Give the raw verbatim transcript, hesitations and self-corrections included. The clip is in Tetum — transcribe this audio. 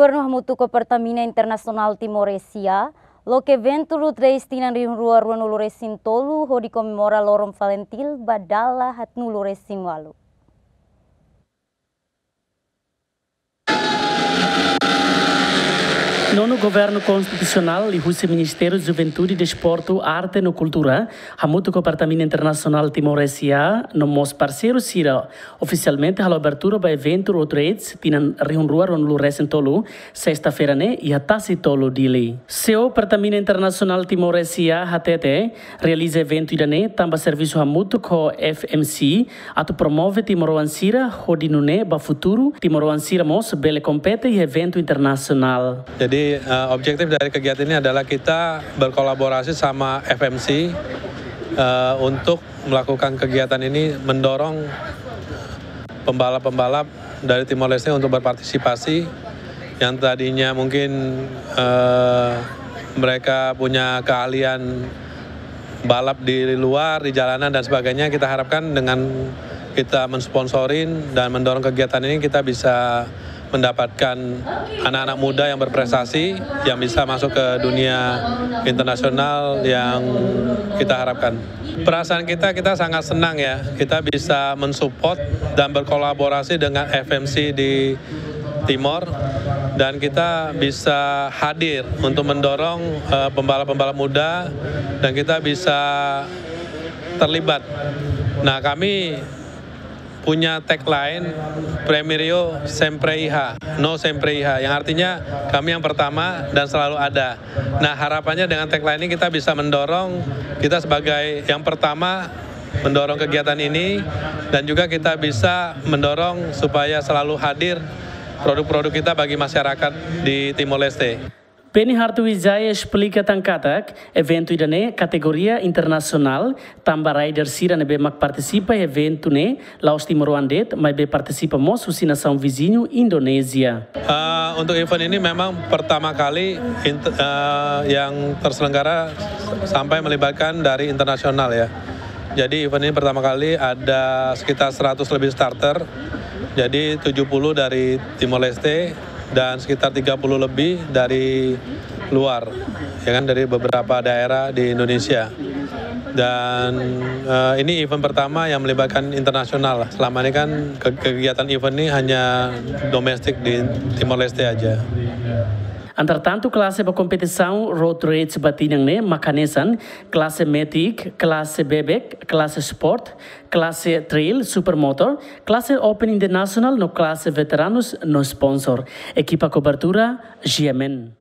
Governu hamutuk ho Pertamina Internasionál Timor S A, loke eventu Road Race tinan rihun rua ruanulu resin tolu hodi komemora loron Falintil ba dala haatnulu resin ualu. Nonu Governu Konstitusionál liuhusi Ministériu Juventude, Desportu, Arte no Kultura, hamutuk ho Pertamina Internasionál Timor S A, no mós parseiru sira, ofisialmente halo abertura ba eventu Road Race tinan rihun rua ruanulu resin tolu, sesta-feira ne'e, iha Tasi Tolu, Dili. CEO Pertamina Internasionál Timor S A hateten, realiza eventu ida-ne'e tanba servisu hamutuk ho F M C atu promove timoroan sira hodi nune'e ba futuru timoroan sira mós bele kompete iha eventu internasionál. Jadi, eh, objektif dari kegiatan ini adalah kita berkolaborasi sama F M C, eh, untuk melakukan kegiatan ini, mendorong pembalap-pembalap dari Timor Leste untuk berpartisipasi, yang tadinya mungkin, eh, mereka punya keahlian balap di luar, di jalanan dan sebagainya. Kita harapkan dengan kita mensponsorin dan mendorong kegiatan ini, kita bisa mendapatkan anak-anak muda yang berprestasi, yang bisa masuk ke dunia internasional yang kita harapkan. Perasaan kita, kita sangat senang ya, kita bisa mensupport dan berkolaborasi dengan F M C di Timor, dan kita bisa hadir untuk mendorong, eh, pembalap-pembalap muda, dan kita bisa terlibat. Nah, kami punya tagline Primeiro Sempre Iha, No Sempre Iha, yang artinya kami yang pertama dan selalu ada. Nah, harapannya dengan tagline ini kita bisa mendorong, kita sebagai yang pertama mendorong kegiatan ini, dan juga kita bisa mendorong supaya selalu hadir produk-produk kita bagi masyarakat di Timor Leste. Penny Hartwijaya esplika tan katak, eventu ida-ne'e kategoria internasionál, tanba rider sira ne'ebé mak partisipa iha eventu ne'e la'ós timoroan de'it, maibé partisipa mós husi nasaun viziñu Indonézia. Ah, untuk event ini memang pertama kali int-, eh, yang terselenggara sampai melibatkan dari internasional ya. Jadi event ini pertama kali ada sekitar seratus lebih starter. Jadi tujuh puluh dari Timor Leste dan sekitar tiga puluh lebih dari luar, ya kan, dari beberapa daerah di Indonesia. Dan, eh, ini event pertama yang melibatkan internasional. Selama ini kan ke-, kegiatan event ini hanya domestik di Timor Leste aja. Entretantu, klase ba kompetisaun road race ba tinan ne'e mak hanesan, klase Matic, klase Bebek, klase Sport, klase Trail, Supermoto, klase Open International no klase Veteranus no sponsor. Ekipa kobertura, G M N.